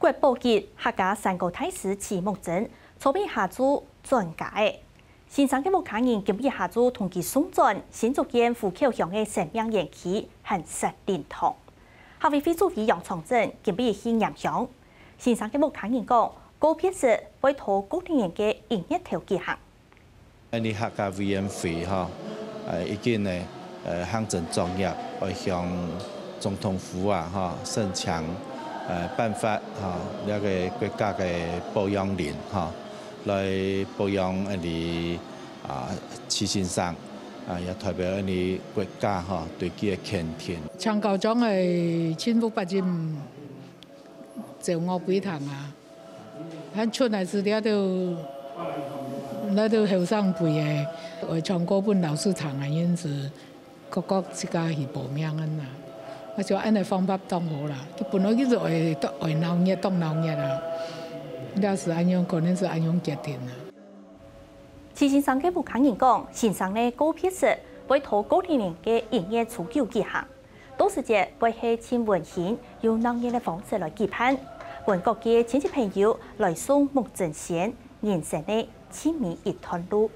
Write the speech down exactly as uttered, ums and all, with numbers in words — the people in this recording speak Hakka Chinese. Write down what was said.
國寶級客家山歌大師徐木曾，昨晡下晝轉家了。先生个屋下人今晡日下晝同佢送轉新竹縣湖口鄉个生命園區寒舍靈堂。客委會主委楊長鎮今晡日去拈香。先生个屋下人講，告別式會在過年个一月頭舉行。 𫣆俚客家委員會吼，呃，已經呢，呃，行政作業愛向總統府啊，吼，申請，呃，頒發，吼，這个國家个保養令，吼，來保養𫣆俚，啊，徐先生，啊，也代表𫣆俚國家，吼，對佢个肯定。請校長个盡有責任 照顧佢聽啊。還出來時，這兜，這兜後生輩个，會唱歌分老師聽啊，因此，各各自家去報名恁啊。我想恁个方法當好啦。佢本來佢就愛，愛鬧熱，當鬧熱啊。這是恁樣，可能是恁樣決定啊。徐先生个屋下人講，先生个告別式會在過年个一月初九舉行。 到時節會係盡溫馨、有鬧熱个方式來舉辦，分各界親戚朋友來送木曾先人生个盡尾一段路。